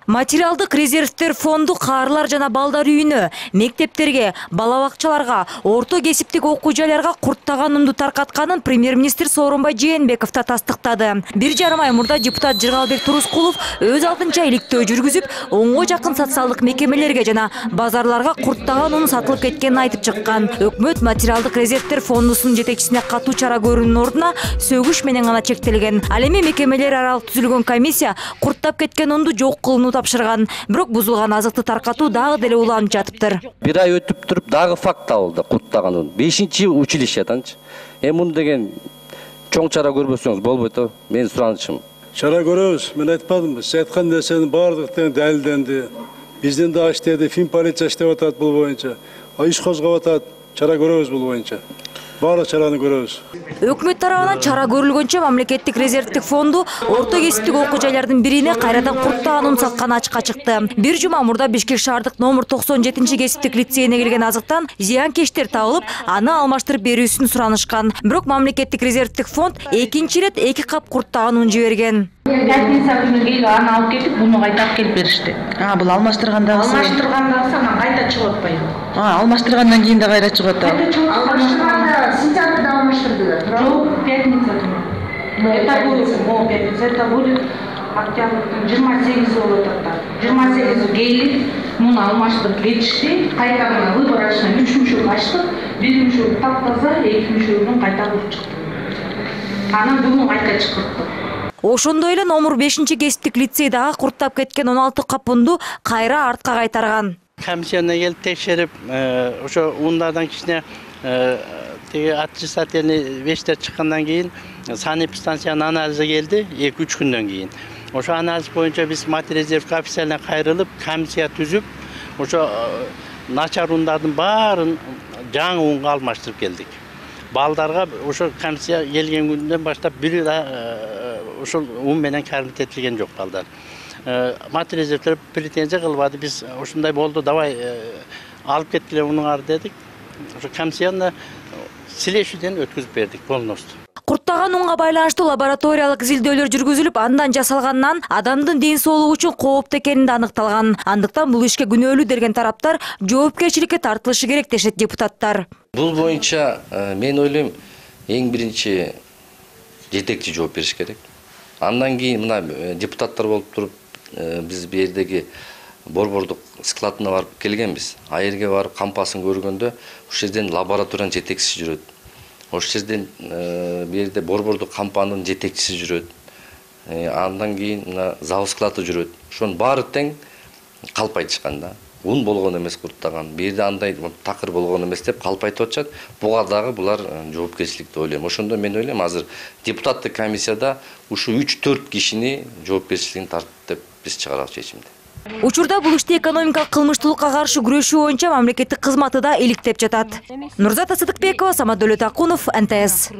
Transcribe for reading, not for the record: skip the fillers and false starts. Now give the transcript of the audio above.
Материалдык резервтер фонду каарылар жана балдар үйүнө, мектептерге, бала бакчаларга, орто кесиптик окуу жайларга курттаган унду таркатканын премьер-министр Сооронбай Жээнбеков да тастыктады. 1,5 ай мурда депутат Жыргалбек Турускулов өз алдынча иликтөө жүргүзүп, 10го жакын социалдык мекемелерге жана базарларга курттаган ун сатылып кеткенин айтып чыккан. Өкмөт материалдык резервтер фондусунун жетекчисине катуу чара көрүүнүн ордуна сөгүш менен гана чектелген. Ал эми мекемелер аралык түзүлгөн комиссия курттап кеткен унду жок кылууну тапшырган. Бирок бузулган азыкты таркатуу дагы деле уланып жатыптыр. 1 ай өтүп туруп дагы факт табылды курттаган ун. 5-училищеданчы. Муну деген чоң чара көрбөсөңүз болбойт о. Менин суранычым. Чара көрөбүз. Мен айтпадымбы, сиз айткан нерсенин баардыгы далилденди. Биздин да иштеди, Фин полиция иштеп атат бул боюнча. Иш козгоп атат. Чара көрөбүз бул боюнча. Баардык чараны көрөбүз. Өкмөт тарабынан чара көрүлгөнчө мамлекеттик резервтик фонду орто кесиптик окуу жайлардын бирине кайрадан курттаган ун сатканы ачыкка чыкты. Бир жума мурда Бишкек шаардык номер 97-кесиптик лицейине келген азыктан зыянкечтер табылып, аны алмаштырып берүүсүн суранышкан. Бирок мамлекеттик резервтик фонд экинчи ирет 2 кап курттаган ун жиберген. Пятница күнү келип аны алып кетип, буну кайта алып келип беришти. Бул алмаштыргандагысы. Алмаштыргандагысы анан кайта чыгып атпайбы? Алмаштыргандан кийин да кайра чыгып атат. Алмаштырганда сентябрда алмаштырдылар. Жок, пятница күнү. Это будет октябрдын 28 болуп атат. 28 келип, муну алмаштырып кетишти. Кайта мына выборочный 3 мүшөк ачтык. 1 мүшөк таптаза, 2 мүшөгүн кайта куруп чыкты. Анан бүгүн кайта чыкырттык. Ошондой эле номер 5-кесиптик лицей дагы курттап кеткен 16 кап унду кайра артка кайтарган. Комиссияна келип текшерип, ошо ундардан кичине теги отрицательный вещтер чыккандан кийин санэпидстанциянын анализи келди 2-3 күндөн кийин. Ошо анализ боюнча биз материалдык официально кайрылып, комиссия түзүп, ошо начар ундардын баарын жаңы унга алмаштырып келдик. Балдарга ошо комиссия келген күндөн баштап бир ошол ун менен кармитетилген жок балдар. Материалдык претензия кылбады. Биз ушундай болду, давай алып кеткиле унуңар дедик. Ошо комиссияны силешүүдөн өткүзүп бердик полностью. Курттаган унга байланыштуу лабораториялык изилдөөлөр жүргүзүлүп, андан жасалгандан адамдын ден соолугу үчүн кооптуу экени аныкталган. Андыктан бул ишке күнөөлүү деген тараптар жоопкерчиликке тартылышы керек дешет депутаттар. Бул боюнча мен ойлойм, эң биринчи жетекчи жооп бериш керек. Андан кийин мына депутаттар болуп туруп, биз бу жердеги борбордук складына барып келгенбиз. А жерге барып кампасын көргөндө, ошол жерден лабораториянын жетекчиси жүрөт. Ошол жерден бу жерде борбордук кампанын жетекчиси жүрөт. Андан кийин мына завод склады жүрөт. Ошонун баары тең калп айтышкан да. Ун болгон эмес курттаган. Бу жерде андай такыр болгон эмес деп калп айтып атышат. Буга дагы булар жоопкерчилик деп ойлойм. Ошондо мен ойлойм, азыр депутаттык комиссияда ушу 3-4 кишини жоопкерчилигин тартып деп биз чыгарабыз чечимди. Учурда бул иште экономикалык кылмыштуулукка каршы күрөшүү боюнча мамлекеттик кызматы да иликтеп жатат. Нурзата Сыдыкбекова, Самат Дөлөтакунов, НТС.